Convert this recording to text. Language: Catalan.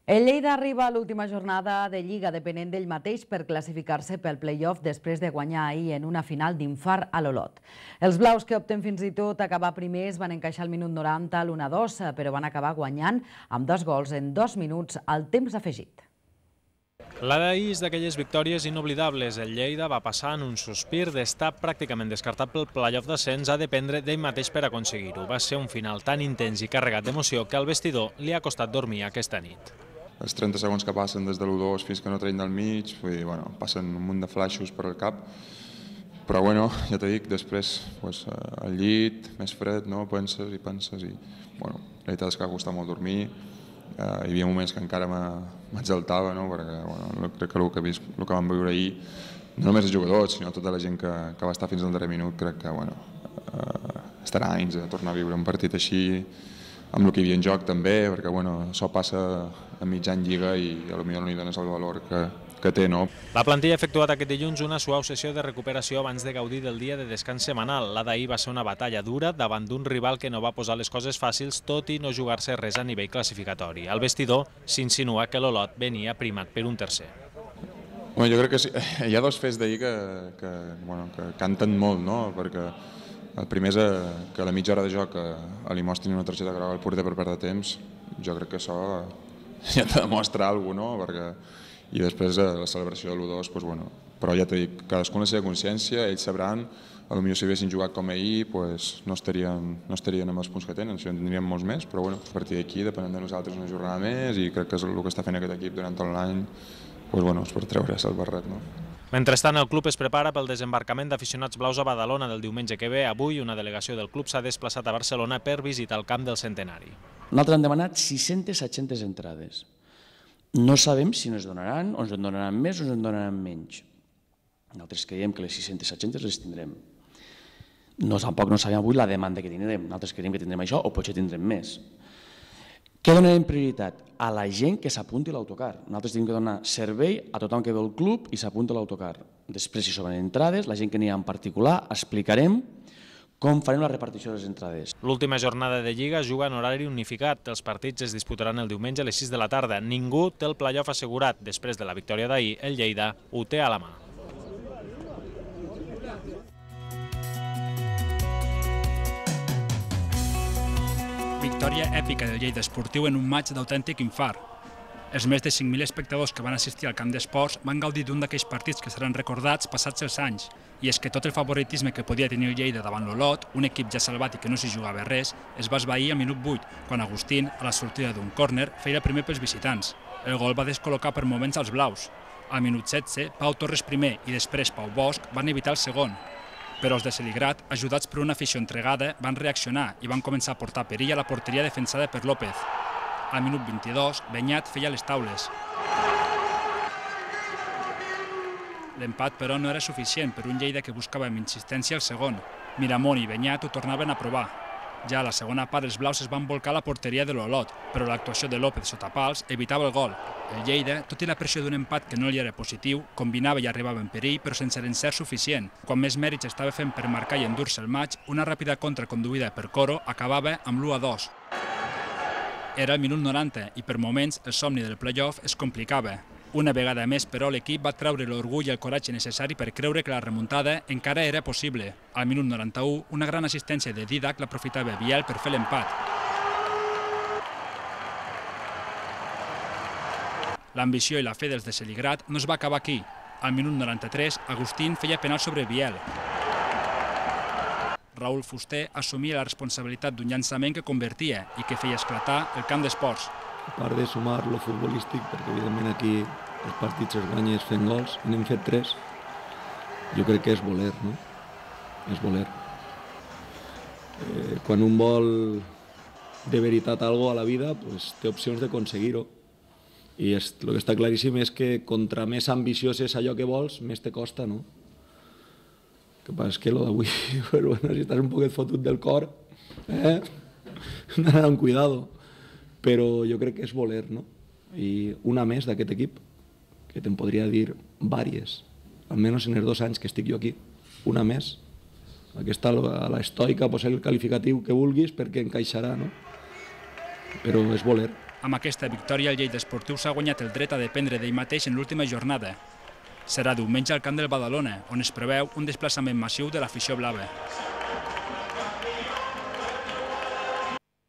El Lleida arriba a l'última jornada de Lliga depenent d'ell mateix per classificar-se pel play-off després de guanyar ahir en una final d'infart a l'Olot. Els blaus, que opten fins i tot a acabar primers, van encaixar al minut 90 l'1-2, però van acabar guanyant amb 2 gols en 2 minuts al temps afegit. La d'ahir és d'aquelles victòries inoblidables. El Lleida va passar en un sospir d'estar pràcticament descartat pel play-off d'ascens a dependre d'ell mateix per aconseguir-ho. Va ser un final tan intens i carregat d'emoció que al vestidor li ha costat dormir aquesta nit. Els 30 segons que passen des de l'1-2 fins que no treien del mig, passen un munt de flaixos per al cap, però ja t'he dit, després al llit, més fred, penses i la veritat és que ha costat molt dormir. Hi havia moments que encara m'exaltava, perquè crec que el que vam viure ahir, no només els jugadors, sinó tota la gent que va estar fins al darrer minut, crec que estarà anys a tornar a viure un partit així, amb el que hi havia en joc també, perquè això passa a mig any Lliga i potser no li dones el valor que té. La plantilla ha efectuat aquest dilluns una suau sessió de recuperació abans de gaudir del dia de descans setmanal. La d'ahir va ser una batalla dura davant d'un rival que no va posar les coses fàcils, tot i no jugar-se res a nivell classificatori. Al vestidor s'insinua que l'Olot venia primat per un tercer. Jo crec que sí. Hi ha dos fets d'ahir que canten molt, perquè el primer és que a la mitja hora de joc li mostrin una targeta groga al porter per perdre temps. Jo crec que això ja te demostra alguna cosa, i després la celebració de l'1-2, però ja t'he dit, cadascú amb la seva consciència, ells sabran, potser si haguessin jugat com ahir no estarien amb els punts que tenen, en tindríem molts més, però a partir d'aquí depenent de nosaltres una jornada més, i crec que és el que està fent aquest equip durant tot l'any, és per treure's el barret. Mentrestant, el club es prepara pel desembarcament d'aficionats blaus a Badalona del diumenge que ve. Avui, una delegació del club s'ha desplaçat a Barcelona per visitar el camp del Centenari. Nosaltres hem demanat 600-700 entrades. No sabem si ens donaran, o ens en donaran més o ens en donaran menys. Nosaltres creiem que les 600-700 les tindrem. Tampoc no sabem avui la demanda que tindrem. Nosaltres creiem que tindrem això o potser tindrem més. Què donarem prioritat? A la gent que s'apunti a l'autocar. Nosaltres tenim que donar servei a tothom que ve al club i s'apunti a l'autocar. Després, si sobren entrades, la gent que n'hi ha en particular, explicarem com farem la repartició de les entrades. L'última jornada de Lliga juga en horari unificat. Els partits es disputaran el diumenge a les 6 de la tarda. Ningú té el play-off assegurat. Després de la victòria d'ahir, el Lleida ho té a la mà. Victòria èpica del Lleida Esportiu en un maig d'autèntic infart. Els més de 5.000 espectadors que van assistir al camp d'esports van gaudir d'un d'aquells partits que seran recordats passats els anys. I és que tot el favoritisme que podia tenir el Lleida davant l'Olot, un equip ja salvat i que no s'hi jugava res, es va esvair al minut 8, quan Agustín, a la sortida d'un córner, feia el primer pels visitants. El gol va descol·locar per moments als blaus. Al minut 16, Pau Torres primer i després Pau Bosch van evitar el segon. Però els de Celigrat, ajudats per una afició entregada, van reaccionar i van començar a portar perill a la porteria defensada per López. Al minut 22, Benyat feia les taules. L'empat, però, no era suficient per un Lleida que buscava amb insistència el segon. Miramón i Benyat ho tornaven a provar. Ja a la segona part, els blaus es van volcar a la porteria de l'Olot, però l'actuació de López sota pals evitava el gol. El Lleida, tot i la pressió d'un empat que no li era positiu, combinava i arribava en perill, però sense l'encert suficient. Quan més mèrits estava fent per marcar i endur-se el maig, una ràpida contra conduïda per Coro acabava amb l'1-2. Era el minut 90 i per moments el somni del play-off es complicava. Una vegada més, però, l'equip va treure l'orgull i el coratge necessari per creure que la remuntada encara era possible. Al minut 91, una gran assistència de Didac l'aprofitava Biel per fer l'empat. L'ambició i la fe dels de Celigrat no es va acabar aquí. Al minut 93, Agustín feia penal sobre Biel. Raúl Fuster assumia la responsabilitat d'un llançament que convertia i que feia esclatar el camp d'esports. A part de sumar lo futbolístic, perquè evidentment aquí els partits es guanyes fent gols, i n'hem fet 3, jo crec que és voler, no? És voler. Quan un vol de veritat alguna a la vida, té opcions d'aconseguir-ho. I el que està claríssim és que contra més ambiciós és allò que vols, més te costa, no? El que passa és que d'avui, si estàs un poquet fotut del cor, d'anar amb cuidado. Però jo crec que és voler, no? I una més d'aquest equip, que te'n podria dir vàries, almenys en els 2 anys que estic jo aquí, una més. Aquesta a l'estoica, posa el qualificatiu que vulguis perquè encaixarà, no? Però és voler. Amb aquesta victòria, el Lleida Esportiu s'ha guanyat el dret a dependre d'ell mateix en l'última jornada. Serà diumenge al camp del Badalona, on es preveu un desplaçament massiu de l'afició blava.